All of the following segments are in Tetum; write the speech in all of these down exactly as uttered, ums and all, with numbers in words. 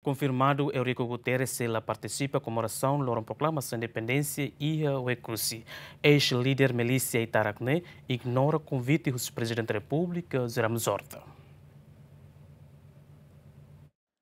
Konfirmadu Eurico Guterres sei la partisipa komemorasaun loron proklamasaun independénsia iha Oekusi. Eis-líder milísia Itarak ne'e ignora konvite husi Prezidente Repúblika, José Ramos Horta.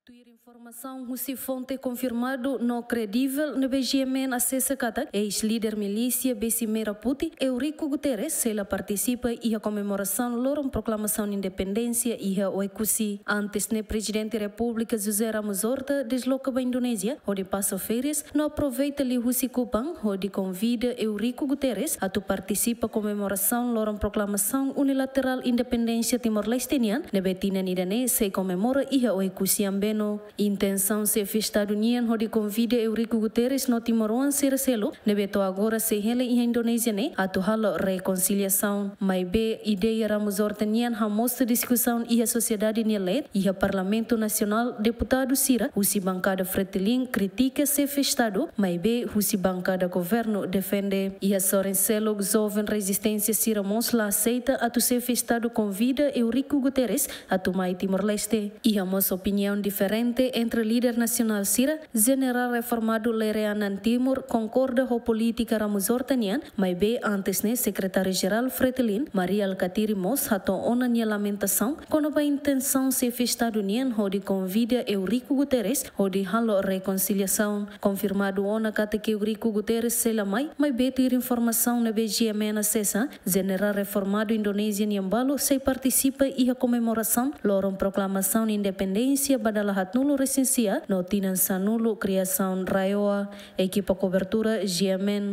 Tuir informasaun husi fonte konfirmadu no kredivel ne'ebé GMN asesa katak, eis-líder milísia besi Merah Putih, Eurico Guterres, sei la partisipa iha komemorasaun loron proklamasaun independénsia iha Oekusi. Antes ne'e, Prezidente Repúblika José Ramos Horta desloka ba Indonézia hodi pasa férias, no aproveita liuhusi Kupang hodi konvida Eurico Guterres atu partisipa komemorasaun loron proklamasaun unilaterál independénsia Timor-Leste nian, ne'ebé tinan ida-ne'e sei komemora iha Oekusi Ambeno. Intensaun Xefe Estadu nian hodi konvida Eurico Guterres no timoroan sira seluk ne'ebé to'o agora sei hela iha Indonézia ne'e atu halo rekonsiliasaun. Maibé ideia Ramos Horta nian hamosu diskusaun iha sosiedade nia leet, iha Parlamentu Nasionál deputadu sira husi bankada Fretilin kritika Xefe Estadu, maibé husi bankada governu defende. Iha sorin seluk, joven rezisténsia sira mós la aseita atu Xefe Estadu konvida Eurico Guterres atu mai Timor-Leste. Iha mós opiniaun diferente entre líder nasionál sira. Jenerál reformadu Lere Anan Timur konkorda ho polítika Ramos Horta nian, maibé antes ne'e Sekretáriu-Jerál Fretilin, Mari Alkatiri, mós hato'o ona nia lamentasaun kona-ba intensaun Xefe Estadu nian hodi konvida Eurico Guterres hodi halo rekonsiliasaun. Konfirmadu ona katak Eurico Guterres sei la mai, maibé tuir informasaun ne'ebé GMN asesa, Jenerál reformadu Indonézia nian balu sei partisipa iha komemorasaun loron proklamasaun independénsia ba dala haatnulu resin sia no tinan sanulu kriasaun RAEOA. Ekipa kobertura GMN.